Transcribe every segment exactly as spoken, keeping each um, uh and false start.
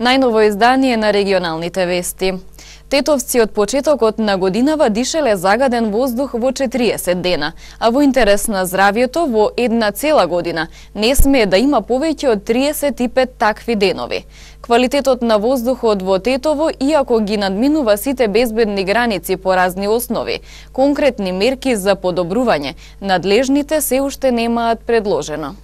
Најново издание на регионалните вести. Тетовци од почетокот на годинава дишеле загаден воздух во четириесет дена, а во интерес на здравјето во една цела година не смее да има повеќе од триесет и пет такви денови. Квалитетот на воздухот во Тетово, иако ги надминува сите безбедни граници по разни основи, конкретни мерки за подобрување, надлежните се уште немаат предложено.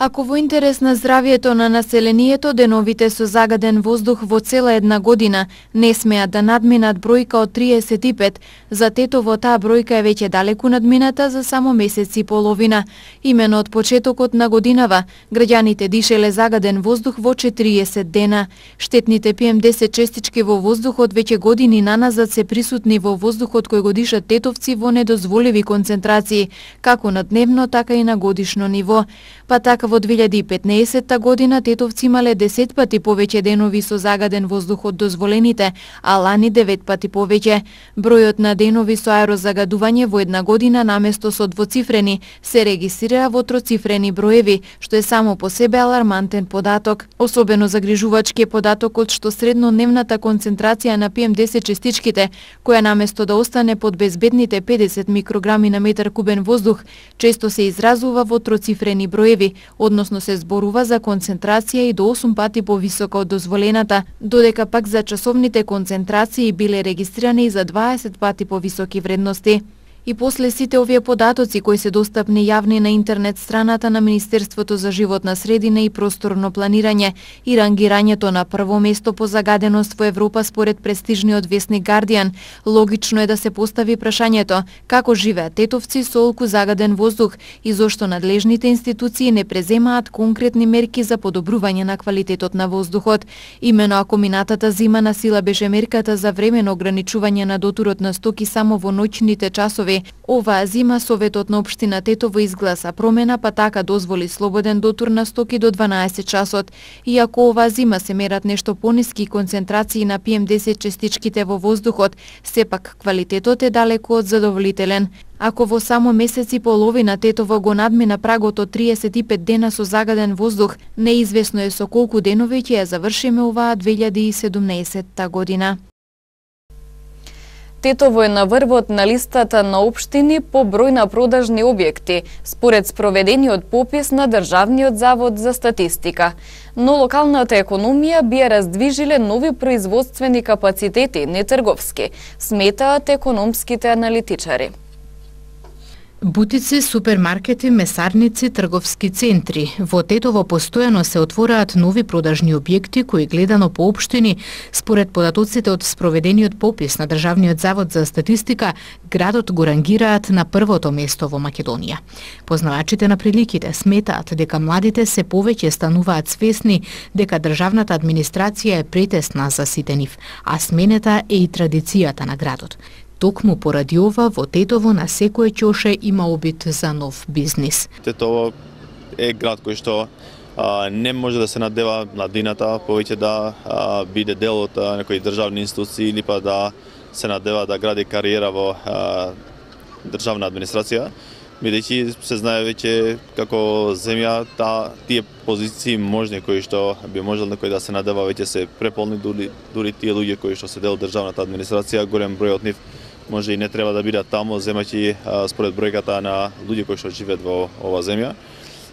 Ако во интерес на здравјето на населението, деновите со загаден воздух во цела една година не смеат да надминат бројка од триесет и пет, за Тетово таа бројка е веќе далеку надмината за само месец и половина. Имено од почетокот на годинава, граѓаните дишеле загаден воздух во четириесет дена. Штетните пи ем десет честички во воздухот веќе години наназад се присутни во воздухот кој го дишат тетовци во недозволиви концентрации, како на дневно, така и на годишно ниво. Па така во две илјади и петнаесетта година тетовци имале десет пати повеќе денови со загаден воздух од дозволените, а лани девет пати повеќе. Бројот на денови со аерозагадување во една година наместо со двоцифрени се регистрира во троцифрени броеви, што е само по себе алармантен податок. Особено загрижувачки е податокот што среднодневната концентрација на пи ем десет честичките, која наместо да остане под безбедните педесет микрограми на метар кубен воздух, често се изразува во троцифрени броеви, односно се зборува за концентрација и до осум пати повисока од дозволената, додека пак за часовните концентрации биле регистрирани за дваесет пати повисоки вредности. И после сите овие податоци кои се достапни јавни на интернет страната на Министерството за животна средина и просторно планирање и рангирањето на прво место по загаденост во Европа според престижниот весник Guardian, логично е да се постави прашањето како живеат тетовци со олку загаден воздух и зошто надлежните институции не преземаат конкретни мерки за подобрување на квалитетот на воздухот. Имено ако минатата зима на сила беше мерката за времено ограничување на дотурот на стоки само во ноќните часови, оваа зима Советот на општина Тетово изгласа промена, па така дозволи слободен дотур на стоки до дванаесет часот. Иако оваа зима се мерат нешто пониски концентрации на пи ем десет честичките во воздухот, сепак квалитетот е далеку од задоволителен. Ако во само месец и половина Тетово го надмина прагот од триесет и пет дена со загаден воздух, неизвестно е со колку денови ќе ја завршиме оваа две илјади и седумнаесетта година. Тетово е на врвот на листата на општини по број на продажни објекти, според спроведениот попис на Државниот завод за статистика. Но локалната економија би ја раздвижиле нови производствени капацитети, не трговски, сметаат економските аналитичари. Бутици, супермаркети, месарници, трговски центри. Во Тетово постојано се отвораат нови продажни објекти кои гледано по општини, според податоците од спроведениот попис на Државниот завод за статистика, градот го рангираат на првото место во Македонија. Познавачите на приликите сметаат дека младите се повеќе стануваат свесни дека државната администрација е претесна за сите нив, а сменета е и традицијата на градот. Токму поради ова, во Тетово на секој ќоше има обид за нов бизнис. Тетово е град кој што а, не може да се надева младината повеќе да а, биде дел од а, некои државни институции или па да се надева да гради кариера во а, државна администрација, бидејќи се знае веќе како земја та тие позиции можни кои што би можел некој да се надева веќе се преполни, дури, дури тие луѓе кои што се дел од државната администрација, голем број од нив може и не треба да бидат таму, земајќи според бројката на луѓе кои што живеат во оваа земја.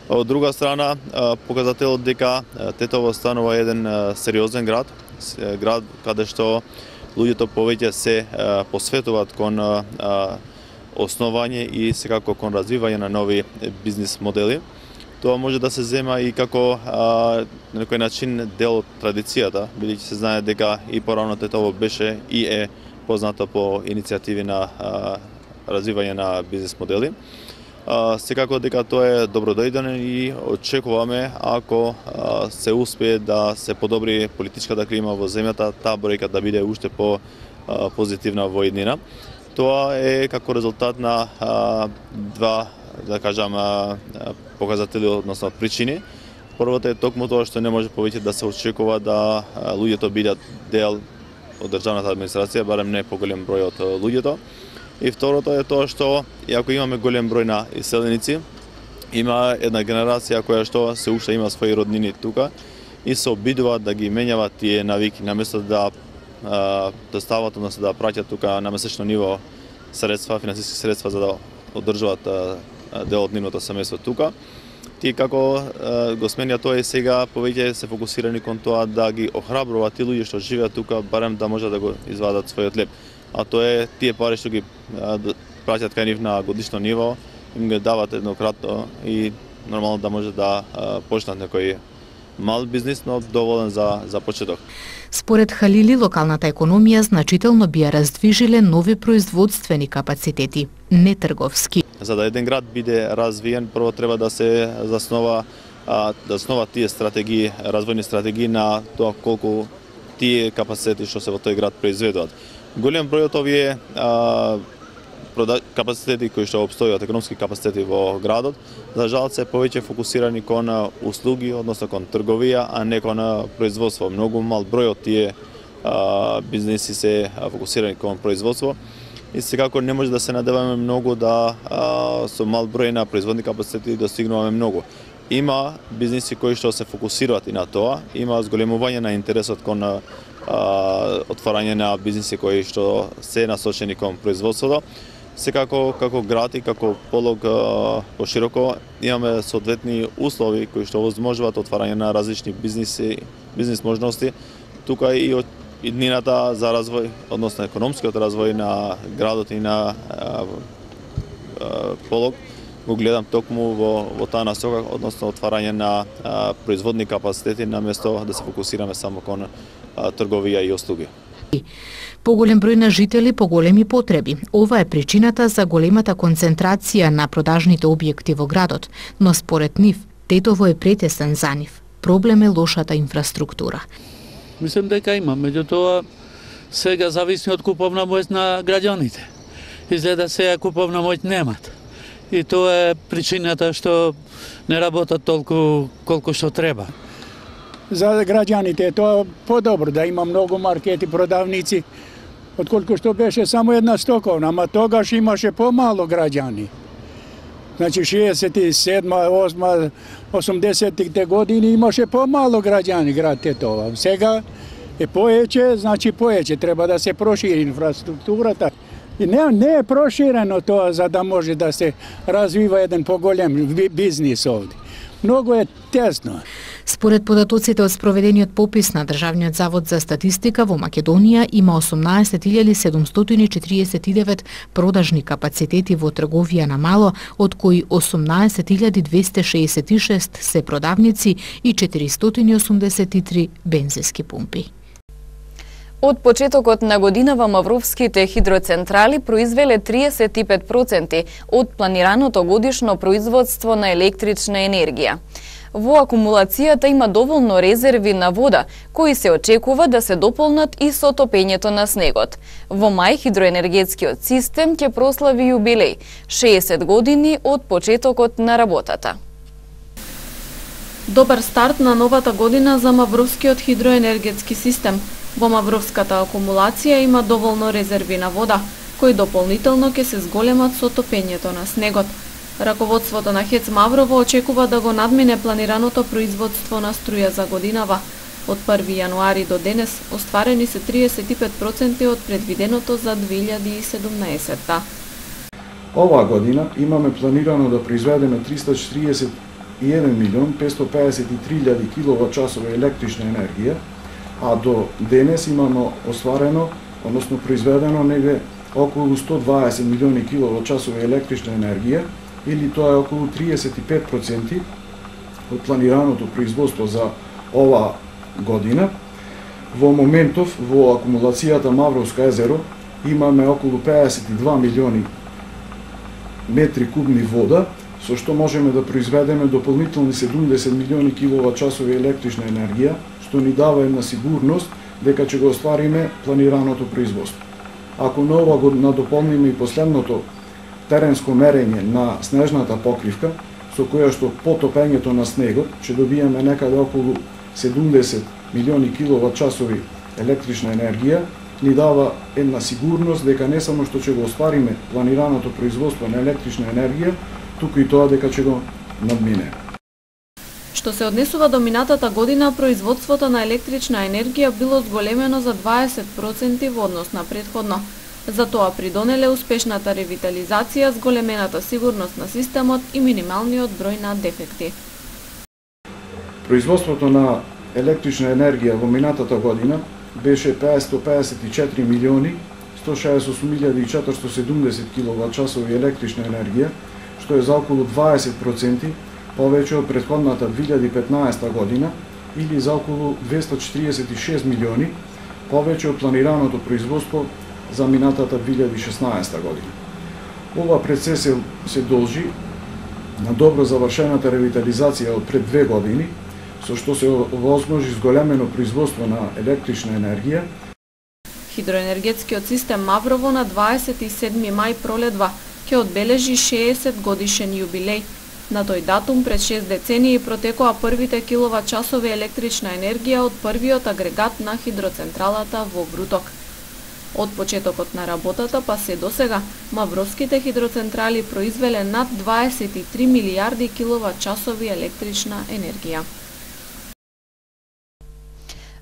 Од друга страна, показателот дека Тетово станува еден сериозен град, град каде што луѓето повеќе се посветуваат кон основање и секако кон развивање на нови бизнис модели. Тоа може да се зема и како а, на некој начин дел од традицијата, бидејќи се знае дека и порано Тетово беше и е познато по иницијативи на а, развивање на бизнис модели. А, секако дека тоа е добродојден и очекуваме ако а, се успее да се подобри политичката клима во земјата, таа бројка да биде уште по а, позитивна во иднина. Тоа е како резултат на а, два, да кажам, а, показатели, односно причини. Првото е токму тоа што не може повеќе да се очекува да а, луѓето бидат дел од државната администрација, барем не поголем број од луѓето. И второто е тоа што, иако имаме голем број на иселеници, има една генерација која што се уште има своји роднини тука и се обидуваат да ги менјават тие навики, наместо да да стават, односно да праќат тука на месечно ниво средства, финансиски средства за да одржуваат дел од нивното семејство тука. Тие како го сменија тоа и сега повеќе се фокусирани кон тоа да ги охрабруваат тие луѓе што живеат тука, барем да можат да го извадат својот леп. А тоа е тие пари што ги праќат кај нив на годишно ниво, им ги дават еднократно и нормално да може да почнат некој мал бизнис, но доволен за за почеток. Според Халили, локалната економија значително би ја раздвижиле нови производствени капацитети, не трговски. За да еден град биде развиен, прво треба да се заснова да заснова тие стратегии, развојни стратегии на тоа колку тие капацитети што се во тој град произведуваат. Голем број од овие а, капацитети кои што обстојат, економски капацитети во градот, за жал се повеќе фокусирани кон услуги, односно кон трговија, а не кон производство. Многу мал број од тие а, бизнеси се фокусирани кон производство и секако не може да се надеваме многу да а, со мал број на производни капацитети достигнуваме многу. Има бизнеси кои што се фокусираат и на тоа, има зголемување на интересот кон а, отварање на бизниси кои што се насочени кон производството. Секако како град и како полог пошироко имаме соодветни услови кои што овозможуваат отварање на различни бизниси, бизнис можности. Тука и од иднината за развој, односно економскиот развој на градот и на а, а, полог го гледам токму во, во таа насока, односно отварање на а, производни капацитети наместо да се фокусираме само кон а, трговија и услуги. Поголем број на жители, поголеми потреби. Ова е причината за големата концентрација на продажните објекти во градот, но според нив, Тетово е претесен за нив. Проблем е лошата инфраструктура. Мислам дека има, меѓутоа сега зависи од куповна моќ на граѓаните. Изгледа сега куповна моќ немат. И тоа е причината што не работат толку колку што треба. За граѓаните е тоа подобро да има многу маркети, продавници, отколку што беше само една стоковна, ама тогаш имаше помало граѓани. Значи шеесет и седма, осма, осумдесеттите години имаше помало граѓани град Тетово. Сега е поеќе, значи поеќе, треба да се прошири инфраструктурата. И не, не е проширено тоа за да може да се развива еден поголем бизнис овде. Многу е тесно. Според податоците од спроведениот попис на Државниот завод за статистика во Македонија има осумнаесет илјади седумстотини и четириесет и девет продажни капацитети во трговија на мало, од кои осумнаесет илјади двесте шеесет и шест се продавници и четиристотини и осумдесет и три бензински пумпи. Од почетокот на годинава мавровските хидроцентрали произвеле триесет и пет проценти од планираното годишно производство на електрична енергија. Во акумулацијата има доволно резерви на вода, кои се очекува да се дополнат и со топењето на снегот. Во мај хидроенергетскиот систем ќе прослави јубилеј – шеесет години од почетокот на работата. Добар старт на новата година за мавровскиот хидроенергетски систем. Во мавровската акумулација има доволно резерви на вода, кои дополнително ќе се зголемат со топењето на снегот. Раководството на ХЕЦ Маврово очекува да го надмине планираното производство на струја за годинава. Од први јануари до денес остварени се триесет и пет проценти од предвиденото за две илјади и седумнаесетта. Оваа година имаме планирано да произведеме триста четириесет и еден милион петстотини и педесет и три илјади киловат-часови електрична енергија, а до денес имаме остварено, односно произведено негде околу сто дваесет милиони киловат-часови електрична енергија, или тоа е околу триесет и пет проценти од планираното производство за оваа година. Во моментов во акумулацијата Мавровско езеро имаме околу педесет и два милиони метри кубни вода, со што можеме да произведеме дополнителни седумдесет милиони киловат-часови електрична енергија, што ни дава една сигурност дека ќе го оствариме планираното производство. Ако на ова го надополниме и последното теренско мерење на снежната покривка, со која што потопењето на снегот ќе добиеме некаде околу седумдесет милиони киловат-часови електрична енергија, ни дава една сигурност дека не само што ќе го оствариме планираното производство на електрична енергија, туку и тоа дека ќе го надминеме. Што се однесува до минатата година, производството на електрична енергија било зголемено за дваесет проценти во однос на претходно. За тоа придонеле успешната ревитализација, зголемената сигурност на системот и минималниот број на дефекти. Производството на електрична енергија во минатата година беше петстотини педесет и четири милиони сто шеесет и осум илјади и четиристотини и седумдесет киловат-часови електрична енергија, што е за околу дваесет проценти повеќе од претходната две илјади и петнаесета година или за околу двеста четиридесет и шест милиони повеќе од планираното производство за минатата две илјади и шеснаесета година. Ова прецес се, се должи на добро завршената ревитализација од пред две години, со што се овозможи зголемено производство на електрична енергија. Хидроенергетскиот систем Маврово на дваесет и седми мај пролетва ќе одбележи шеесет годишен јубилеј. На тој датум пред шест децении протекоа првите киловат-часови електрична енергија од првиот агрегат на хидроцентралата во Бруток. Од почетокот на работата па се досега, мавровските хидроцентрали произвеле над дваесет и три милијарди киловат-часови електрична енергија.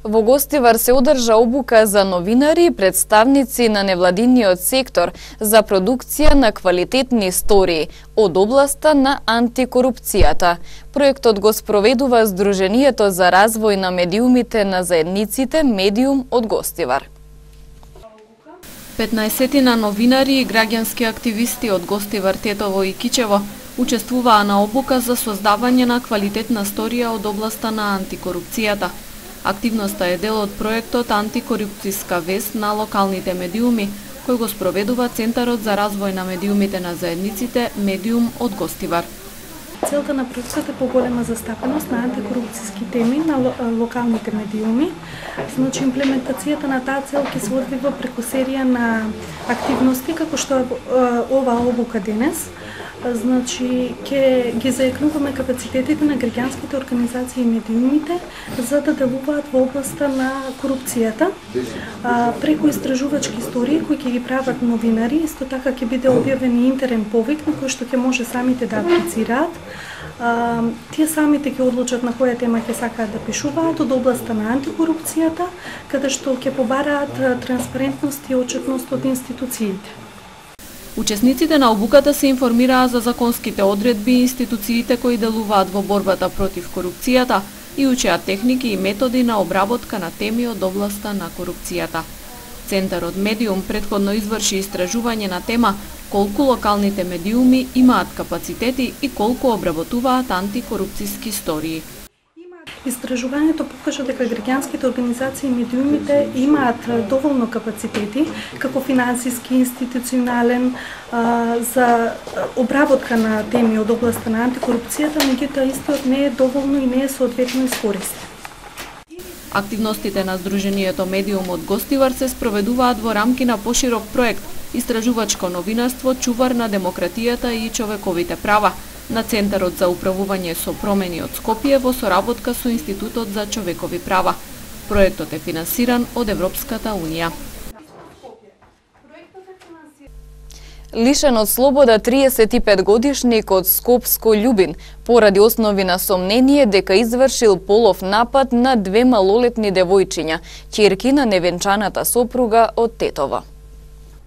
Во Гостивар се одржа обука за новинари и представници на невладиниот сектор за продукција на квалитетни истории од областа на антикорупцијата. Проектот го спроведува Сдруженијето за развој на медиумите на заедниците Медиум од Гостивар. петнаесетина новинари и граѓански активисти од Гостивар, Тетово и Кичево учествуваа на обука за создавање на квалитетна сторија од областа на антикорупцијата. Активноста е дел од проектот Антикорупцијска вест на локалните медиуми, кој го спроведува Центарот за развој на медиумите на заедниците Медиум од Гостивар. Целта на проектот е поголема застапеност на антикорупцијски теми на локалните медиуми. Значи, имплементацијата на таа цел ќе се одвива преку серија на активности, како што е ова обука денес. Значи, ќе ги заекнуваме капацитетите на граѓанските организации и медиумите за да делуваат во областа на корупцијата. А, преку истражувачки истории кои ќе ги прават новинари, исто така ќе биде објавен и интерен повик на кој што ќе може самите да аплицираат. А, тие самите ќе одлучат на која тема ќе сакаат да пишуваат од областа на антикорупцијата, каде што ќе побараат транспарентност и отчетност од институциите. Учесниците на обуката се информираа за законските одредби и институциите кои делуваат во борбата против корупцијата и учеа техники и методи на обработка на теми од областа на корупцијата. Центарот Медиум претходно изврши истражување на тема колку локалните медиуми имаат капацитети и колку обработуваат антикорупцијски истории. Истражувањето покажа дека граѓанските организации и медиумите имаат доволно капацитети, како финансиски, институционален, а, за обработка на теми од областа на антикорупцијата, меѓутоа истиот не е доволно и не е соодветно искористен. Активностите на Сдруженијето Медиум од Гостивар се спроведуваат во рамки на поширок проект Истражувачко новинарство, чувар на демократијата и човековите права на Центарот за управување со промени од Скопје во соработка со Институтот за човекови права. Проектот е финансиран од Европската унија. Лишен од слобода триесет и пет годишник од Скопско Љубин поради основи на сомнение дека извршил полов напад на две малолетни девојчиња, ќерки на невенчаната сопруга од Тетово.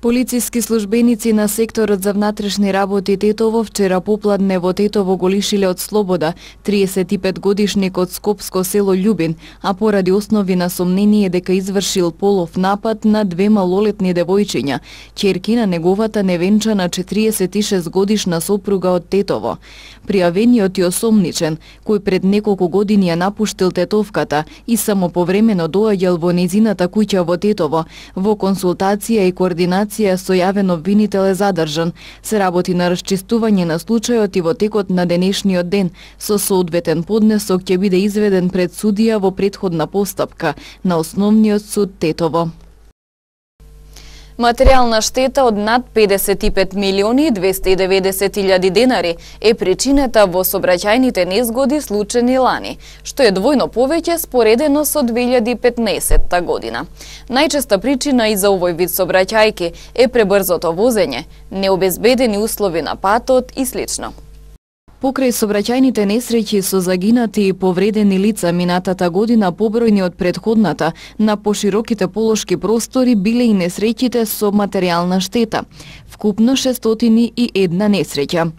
Полициски службеници на секторот за внатрешни работи Тетово вчера попладне во Тетово го лишиле од слобода триесет и пет годишник од Скопско село Љубин, а поради основи на сомнение дека извршил полов напад на две малолетни девојчиња, ќерки на неговата невенчана четириесет и шест годишна сопруга од Тетово. Пријавениот и осомничен, кој пред неколку години ја напуштил Тетовката и само повремено доаѓал во нејзината куќа во Тетово, во консултација и координација со јавен обвинител е задржан. Се работи на расчистување на случајот и во текот на денешниот ден, со соодветен поднесок ќе биде изведен пред судија во претходна постапка на Основниот суд Тетово. Материјална штета од над педесет и пет милиони двесте и деветдесет илјади денари е причината во сообраќајните незгоди случени лани, што е двојно повеќе споредено со две илјади и петнаесетта година. Најчеста причина и за овој вид сообраќајки е пребрзото возење, необезбедени услови на патот и слично. Покрај сообраќајните несреќи со загинати и повредени лица минатата година побројни од претходната, на пошироките полошки простори биле и несреќите со материјална штета. Вкупно шестстотини и една несреќа.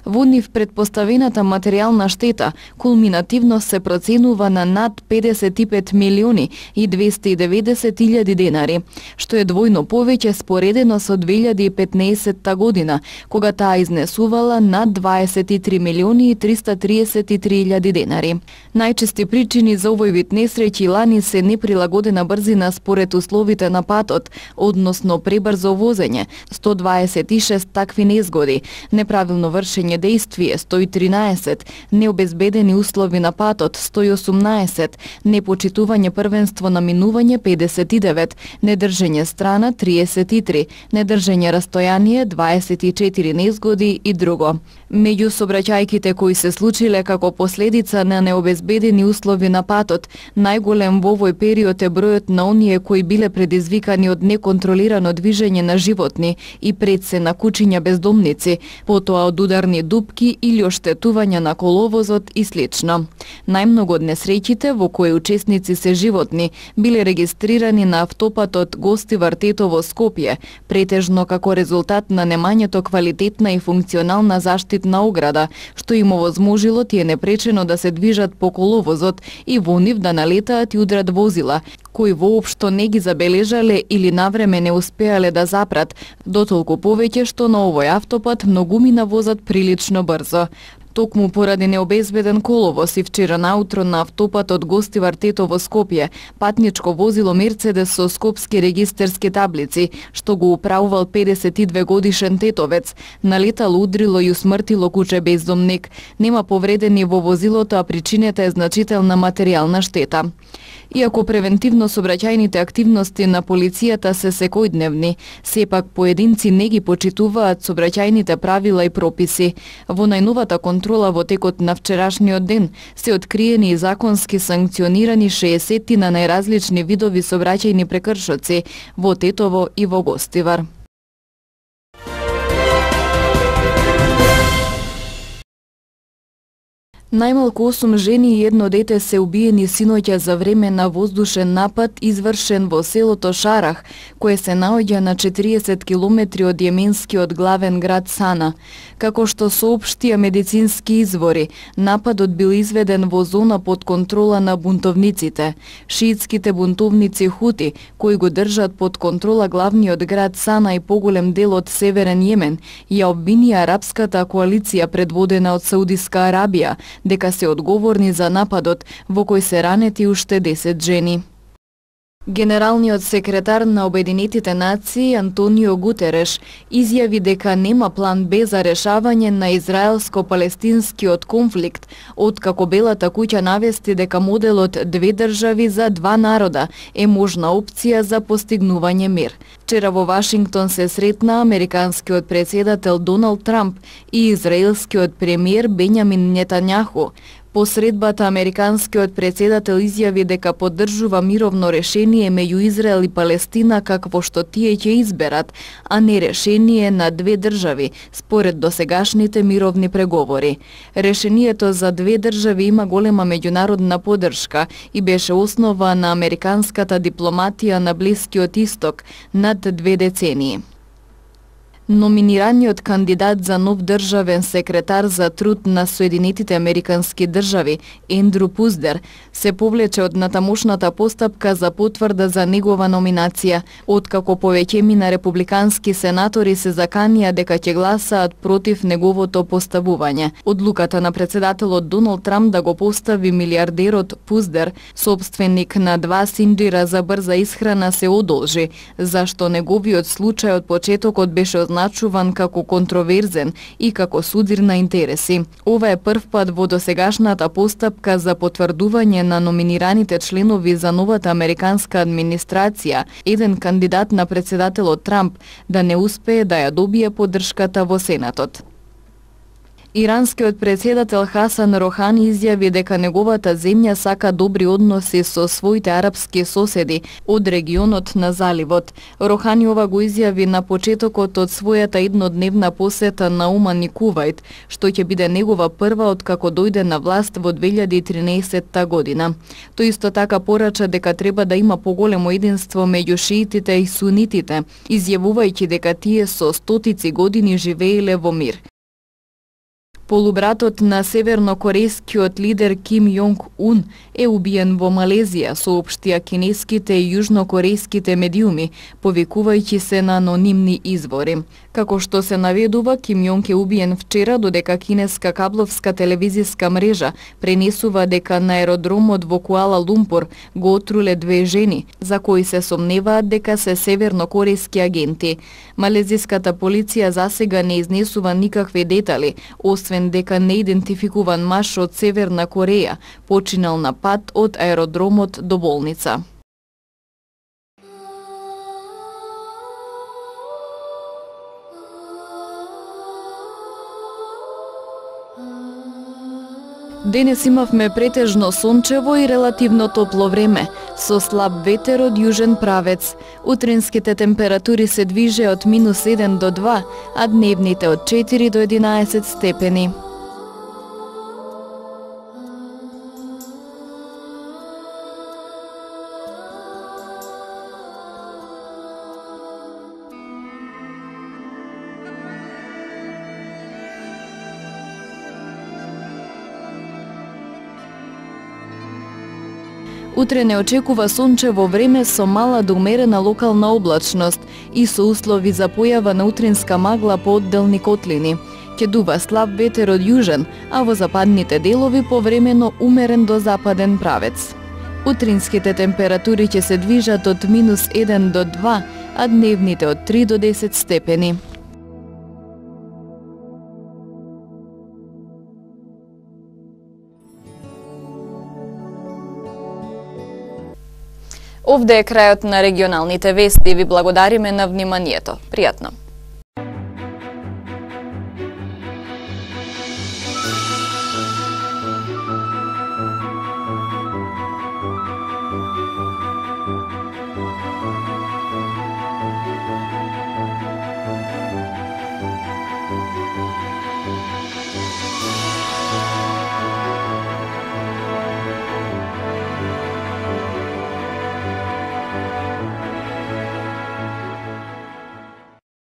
Во нив предпоставената материјална штета кулминативно се проценува на над педесет и пет милиони и двесте и деветдесет илјади денари, што е двојно повеќе споредено со две илјади и петнаесетта година, кога таа изнесувала над дваесет и три милиони и триста триесет и три илјади денари. Најчести причини за овој вид несреќи лани се неприлагодена брзина според условите на патот, односно пребрзо возење, сто дваесет и шест такви незгоди, неправилно вршење дејствие сто и тринаесет, необезбедени услови на патот сто и осумнаесет, непочитување првенство на минување педесет и девет, недржење страна триесет и три, недржење растојание дваесет и четири незгоди и друго. Меѓу сообраќајките кои се случиле како последица на необезбедени услови на патот, најголем во овој период е бројот на оние кои биле предизвикани од неконтролирано движење на животни и пред се на кучиња бездомници, потоа од ударни дупки или оштетување на коловозот и слично. Најмногу од несреќите во кои учесници се животни биле регистрирани на автопатот Гостивар-Тетово Скопје, претежно како резултат на немањето квалитетна и функционална заштитна ограда, што им овозможило тие непречено да се движат по коловозот и во нив да налетаат и удрат возила, кои воопшто не ги забележале или навреме не успеале да запрат, дотолку повеќе што на овој автопат многумина возат прилично брзо. Токму поради необезбеден коловоз и вчера наутро на автопатот Гостивар-Тетово Скопје, патничко возило Мерцедес со скопски регистерски таблици, што го управувал педесет и две годишен тетовец, налетало, удрило и усмртило куче бездомник. Нема повредени во возилото, а причината е значителна материјална штета. Иако превентивно сообраќајните активности на полицијата се секојдневни, сепак поединци не ги почитуваат сообраќајните правила и прописи. Во најновата контрола во текот на вчерашниот ден се откриени и законски санкционирани шеесет на најразлични видови сообраќајни прекршоци во Тетово и во Гостивар. Најмалку осум жени и едно дете се убиени синоќа за време на воздушен напад извршен во селото Шарах, кое се наоѓа на четириесет километри од јеменскиот главен град Сана. Како што соопштија медицински извори, нападот бил изведен во зона под контрола на бунтовниците. Шиитските бунтовници Хути, кои го држат под контрола главниот град Сана и поголем дел од северен Јемен, ја обвинија арапската коалиција предводена од Саудиска Арабија дека се одговорни за нападот во кој се ранети уште десет жени. Генералниот секретар на Обединетите нации Антонио Гутереш изјави дека нема план Б за решавање на израелско-палестинскиот конфликт, откако Белата куќа навести дека моделот две држави за два народа е можна опција за постигнување мир. Вчера во Вашингтон се сретна американскиот претседател Доналд Трамп и израелскиот премиер Бењамин Нетањаху. По средбата американскиот претседател изјави дека поддржува мировно решение меѓу Израел и Палестина какво што тие ќе изберат, а не решение на две држави, според досегашните мировни преговори. Решението за две држави има голема меѓународна поддршка и беше основа на американската дипломатија на Блискиот Исток над две децении. Номинираниот кандидат за нов државен секретар за труд на Соединетите Американски држави, Ендру Пуздер, се повлече од натамошната постапка за потврда за негова номинација, откако повеќеми на републикански сенатори се заканија дека ќе гласаат против неговото поставување. Одлуката на претседателот Доналд Трамп да го постави милиардерот Пуздер, собственик на два синџира за брза исхрана, се одолжи, зашто неговиот случај од почетокот беше означуван како контроверзен и како судир на интереси. Ова е прв пат во досегашната постапка за потврдување на номинираните членови за новата американска администрација, еден кандидат на претседателот Трамп да не успее да ја добие поддршката во Сенатот. Иранскиот председател Хасан Рохани изјави дека неговата земја сака добри односи со своите арапски соседи од регионот на заливот. Рохани ова го изјави на почетокот од својата еднодневна посета на Оман и Кувајт, што ќе биде негова прва откако дојде на власт во две илјади и тринаесетта година. Тој исто така порача дека треба да има поголемо единство меѓу шиитите и сунитите, изјавувајќи дека тие со стотици години живееле во мир. Полубратот на севернокорејскиот лидер Ким Јонг Ун е убиен во Малезија, соопштија кинеските и јужнокорејските медиуми, повикувајќи се на анонимни извори. Како што се наведува, Ким Јонг е убиен вчера, додека кинеска кабловска телевизиска мрежа пренесува дека на аеродромот во Куала Лумпур го отруле две жени, за кои се сомневаат дека се севернокорејски агенти. Малезиската полиција засега не изнесува никакви детали, освен дека неидентификуван маж од Северна Кореја починал на пат од аеродромот до болница. Денес имавме претежно сончево и релативно топло време, со слаб ветер од јужен правец. Утринските температури се движе од минус еден до два, а дневните од четири до единаесет степени. Утре не очекува сончево време со мала до умерена локална облачност и со услови за појава на утринска магла по одделни котлини. Ќе дува слаб ветер од јужен, а во западните делови повремено умерен до западен правец. Утринските температури ќе се движат од минус еден до два, а дневните од три до десет степени. Овде е крајот на регионалните вести. Ви благодариме на вниманието. Пријатно!